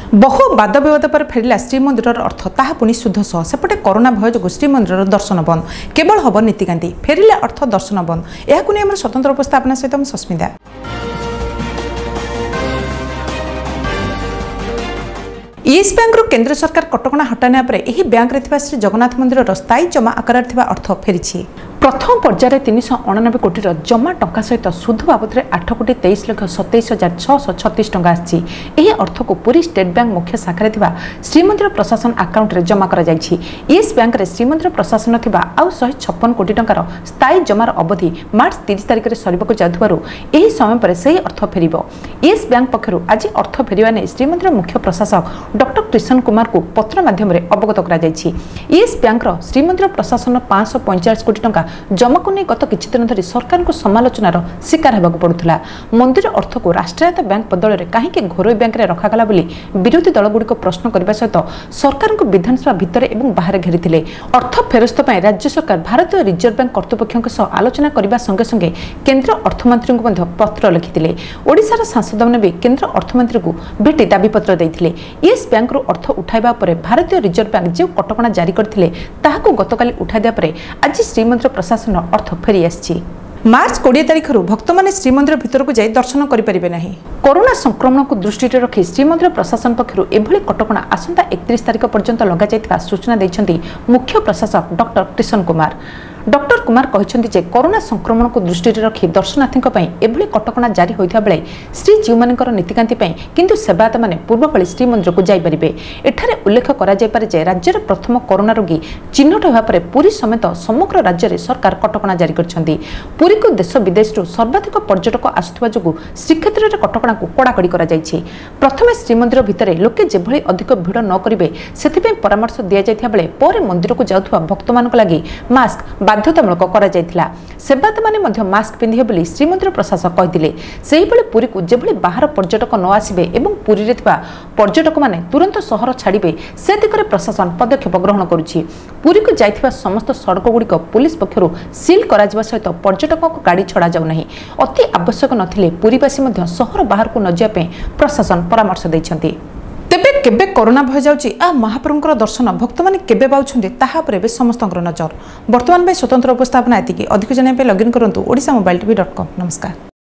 ବହୁ ବାଦ ବିବାଦ ପରେ ଫେରିଲା ଶ୍ରୀମନ୍ଦିରର ଅର୍ଥ, ତାହା ପୁଣି ସୁଧ ସହ। ସେପଟେ କରୋନା ଭୟ ଯୋଗୁଁ ଶ୍ରୀମନ୍ଦିରର ଦର୍ଶନ ବନ୍ଦ, କେବଳ ହେବ ନୀତିକାନ୍ତି। ଫେରିଲା ଅର୍ଥ, ଦର୍ଶନ ବନ୍ଦ, ଏହାକୁ ନେଇ ଆମର ସ୍ୱତନ୍ତ୍ର ଉପସ୍ଥାପନା ସହିତ ମୁଁ ସସ୍ମିତା। ୟେସ୍ ବ୍ୟାଙ୍କରୁ କେନ୍ଦ୍ର ସରକାର କଟକଣା ହଟାଇବା ପରେ ଏହି ବ୍ୟାଙ୍କରେ ଥିବା ଶ୍ରୀ ଜଗନ୍ନାଥ ମନ୍ଦିରର ସ୍ଥାୟୀ ଜମା ଆକାରରେ ଥିବା ଅର୍ଥ ଫେରିଛି। ପ୍ରଥମ ପର୍ଯ୍ୟାୟରେ 389 କୋଟିର ଜମା ଟଙ୍କା ସହିତ ସୁଧ ବାବଦରେ 8,23,27,636 ଟଙ୍କା ଆସିଛି। ଏହି ଅର୍ଥକୁ ପୁରୀ ଷ୍ଟେଟ୍ ବ୍ୟାଙ୍କ ମୁଖ୍ୟ ଶାଖାରେ ଥିବା ଶ୍ରୀମନ୍ଦିର ପ୍ରଶାସନ ଆକାଉଣ୍ଟରେ ଜମା କରାଯାଇଛି। ୟେସ୍ ବ୍ୟାଙ୍କରେ ଶ୍ରୀମନ୍ଦିର ପ୍ରଶାସନ ଥିବା ଆଉ 156 କୋଟି ଟଙ୍କାର ସ୍ଥାୟୀ ଜମାର ଅବଧି ମାର୍ଚ୍ଚ 30 ତାରିଖରେ ସରିବାକୁ ଯାଉଥିବାରୁ ଏହି ସମୟ ପରେ ସେହି ଅର୍ଥ ଫେରିବ। ୟେସ୍ ବ୍ୟାଙ୍କ ପକ୍ଷରୁ ଆଜି ଅର୍ଥ ଫେରିବା ନେଇ ଶ୍ରୀମନ୍ଦିର ମୁଖ୍ୟ ପ୍ରଶାସକ ଡକ୍ଟର କ୍ରିଷନ କୁମାରଙ୍କୁ ପତ୍ର ମାଧ୍ୟମରେ ଅବଗତ କରାଯାଇଛି। ୟେସ୍ ବ୍ୟାଙ୍କର ଶ୍ରୀମନ୍ଦିର ପ୍ରଶାସନ 545 କୋଟି ଟଙ୍କା ଜମାକୁ ନେଇ ଗତ କିଛି ଦିନ ଧରି ସରକାରଙ୍କୁ ସମାଲୋଚନାର ଶିକାର ହେବାକୁ ପଡୁଥିଲା। ମନ୍ଦିର ଅର୍ଥକୁ ରାଷ୍ଟ୍ରାୟତ୍ତ ବ୍ୟାଙ୍କ ବଦଳରେ କାହିଁକି ଘରୋଇ ବ୍ୟାଙ୍କରେ ରଖାଗଲା ବୋଲି ବିରୋଧୀ ଦଳଗୁଡ଼ିକ ପ୍ରଶ୍ନ କରିବା ସହିତ ସରକାରଙ୍କୁ ବିଧାନସଭା ଭିତରେ ଏବଂ ବାହାରେ ଘେରିଥିଲେ। ଅର୍ଥ ଫେରସ୍ତ ପାଇଁ ରାଜ୍ୟ ସରକାର ଭାରତୀୟ ରିଜର୍ଭ ବ୍ୟାଙ୍କ କର୍ତ୍ତୃପକ୍ଷଙ୍କ ସହ ଆଲୋଚନା କରିବା ସଙ୍ଗେ ସଙ୍ଗେ କେନ୍ଦ୍ର ଅର୍ଥମନ୍ତ୍ରୀଙ୍କୁ ମଧ୍ୟ ପତ୍ର ଲେଖିଥିଲେ। ଓଡ଼ିଶାର ସାଂସଦମାନେ ବି କେନ୍ଦ୍ର ଅର୍ଥମନ୍ତ୍ରୀଙ୍କୁ ଭେଟି ଦାବିପତ୍ର ଦେଇଥିଲେ। ୟେସ୍ ବ୍ୟାଙ୍କରୁ ଅର୍ଥ ଉଠାଇବା ପରେ ଭାରତୀୟ ରିଜର୍ଭ ବ୍ୟାଙ୍କ ଯେଉଁ କଟକଣା ଜାରି କରିଥିଲେ, ତାହାକୁ ଗତକାଲି ଉଠାଇ ଦେବା ପରେ ଆଜି ଶ୍ରୀମନ୍ଦିର ପ୍ରଶାସନର ଅର୍ଥ ଫେରିଆସିଛି। ମାର୍ଚ୍ଚ 20 ତାରିଖରୁ ଭକ୍ତମାନେ ଶ୍ରୀମନ୍ଦିର ଭିତରକୁ ଯାଇ ଦର୍ଶନ କରିପାରିବେ ନାହିଁ। କରୋନା ସଂକ୍ରମଣକୁ ଦୃଷ୍ଟିରେ ରଖି ଶ୍ରୀମନ୍ଦିର ପ୍ରଶାସନ ପକ୍ଷରୁ ଏଭଳି କଟକଣା ଆସନ୍ତା 31 ତାରିଖ ପର୍ଯ୍ୟନ୍ତ ଲଗାଯାଇଥିବା ସୂଚନା ଦେଇଛନ୍ତି ମୁଖ୍ୟ ପ୍ରଶାସକ ଡକ୍ଟର କ୍ରିଷନ କୁମାର। ଡକ୍ଟର କୁମାର କହିଛନ୍ତି ଯେ କରୋନା ସଂକ୍ରମଣକୁ ଦୃଷ୍ଟିରେ ରଖି ଦର୍ଶନାର୍ଥୀଙ୍କ ପାଇଁ ଏଭଳି କଟକଣା ଜାରି ହୋଇଥିବା ବେଳେ ଶ୍ରୀଜୀଉମାନଙ୍କର ନୀତିକାନ୍ତି ପାଇଁ କିନ୍ତୁ ସେବାୟତମାନେ ପୂର୍ବ ଭଳି ଶ୍ରୀମନ୍ଦିରକୁ ଯାଇପାରିବେ। ଏଠାରେ ଉଲ୍ଲେଖ କରାଯାଇପାରେ ଯେ ରାଜ୍ୟରେ ପ୍ରଥମ କରୋନା ରୋଗୀ ଚିହ୍ନଟ ହେବା ପରେ ପୁରୀ ସମେତ ସମଗ୍ର ରାଜ୍ୟରେ ସରକାର କଟକଣା ଜାରି କରିଛନ୍ତି। ପୁରୀକୁ ଦେଶ ବିଦେଶରୁ ସର୍ବାଧିକ ପର୍ଯ୍ୟଟକ ଆସୁଥିବା ଯୋଗୁଁ ଶ୍ରୀକ୍ଷେତ୍ରରେ କଟକଣାକୁ କଡ଼ାକଡ଼ି କରାଯାଇଛି। ପ୍ରଥମେ ଶ୍ରୀମନ୍ଦିର ଭିତରେ ଲୋକେ ଯେଭଳି ଅଧିକ ଭିଡ଼ ନ କରିବେ, ସେଥିପାଇଁ ପରାମର୍ଶ ଦିଆଯାଇଥିବା ବେଳେ ପରେ ମନ୍ଦିରକୁ ଯାଉଥିବା ଭକ୍ତମାନଙ୍କ ଲାଗି ମାସ୍କ ବାଧ୍ୟତାମୂଳକ କରାଯାଇଥିଲା। ସେବାୟତମାନେ ମଧ୍ୟ ମାସ୍କ ପିନ୍ଧିବେ ବୋଲି ଶ୍ରୀମନ୍ଦିର ପ୍ରଶାସକ କହିଥିଲେ। ସେହିଭଳି ପୁରୀକୁ ଯେଭଳି ବାହାର ପର୍ଯ୍ୟଟକ ନ ଆସିବେ ଏବଂ ପୁରୀରେ ଥିବା ପର୍ଯ୍ୟଟକମାନେ ତୁରନ୍ତ ସହର ଛାଡ଼ିବେ, ସେ ଦିଗରେ ପ୍ରଶାସନ ପଦକ୍ଷେପ ଗ୍ରହଣ କରୁଛି। ପୁରୀକୁ ଯାଇଥିବା ସମସ୍ତ ସଡ଼କଗୁଡ଼ିକ ପୁଲିସ ପକ୍ଷରୁ ସିଲ୍ କରାଯିବା ସହିତ ପର୍ଯ୍ୟଟକଙ୍କ ଗାଡ଼ି ଛଡ଼ାଯାଉ ନାହିଁ। ଅତି ଆବଶ୍ୟକ ନଥିଲେ ପୁରୀବାସୀ ମଧ୍ୟ ସହର ବାହାରକୁ ନ ଯିବା ପାଇଁ ପ୍ରଶାସନ ପରାମର୍ଶ ଦେଇଛନ୍ତି। ତେବେ କେବେ କରୋନା ଭୟ ଯାଉଛି ଆଉ ମହାପ୍ରଭୁଙ୍କର ଦର୍ଶନ ଭକ୍ତମାନେ କେବେ ପାଉଛନ୍ତି, ତାହା ଉପରେ ଏବେ ସମସ୍ତଙ୍କର ନଜର। ବର୍ତ୍ତମାନ ପାଇଁ ସ୍ୱତନ୍ତ୍ର ଉପସ୍ଥାପନା ଏତିକି। ଅଧିକ ଜାଣିବା ପାଇଁ ଲଗ୍ଇନ୍ କରନ୍ତୁ Odisha mobile TV dot com. ନମସ୍କାର।